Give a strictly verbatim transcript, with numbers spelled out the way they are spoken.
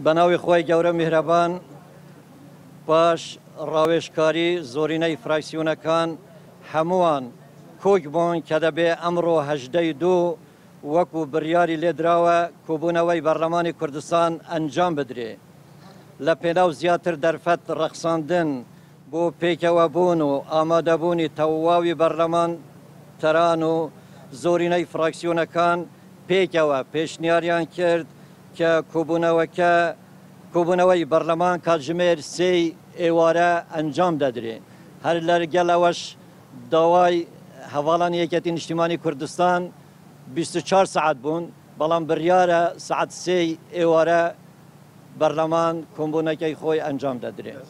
بە ناوی خوای گەورە میهرەبان، پاش ڕاوێژکاری زۆرینەی فراکسیۆنەکان هەمووان کۆک بوون کە دەبێ ئەمڕۆ هەژدەی دوو وەکو بڕیاری لێدراوە کۆبوونەوەی بەرلەمانی کوردستان ئەنجام بدرێ لە پێناو زیاتر دەرفەت ڕەخساندن بۆ پێکەوە بوون و ئامادەبوونی تەواوی بەرلەمان تەران و زۆرینەی فراکسیۆنەکان پێکەوە پێشنیاریان کرد کە کۆبوونەوەکە کۆبوونەوەی بەرلەمان کاتژمێر سێی ئێوارە ئەنجام دەدرێ. هەر لەگەڵ ئەوەش داوای هەواڵانی یەکێتی نیشتیمانی کوردستان بیست و چوار سەعات بوون، بەڵام بڕیارە سەعات سێی ئێوارە بەرلەمان کۆمبوونەکەی خۆی ئەنجام دەدرێت.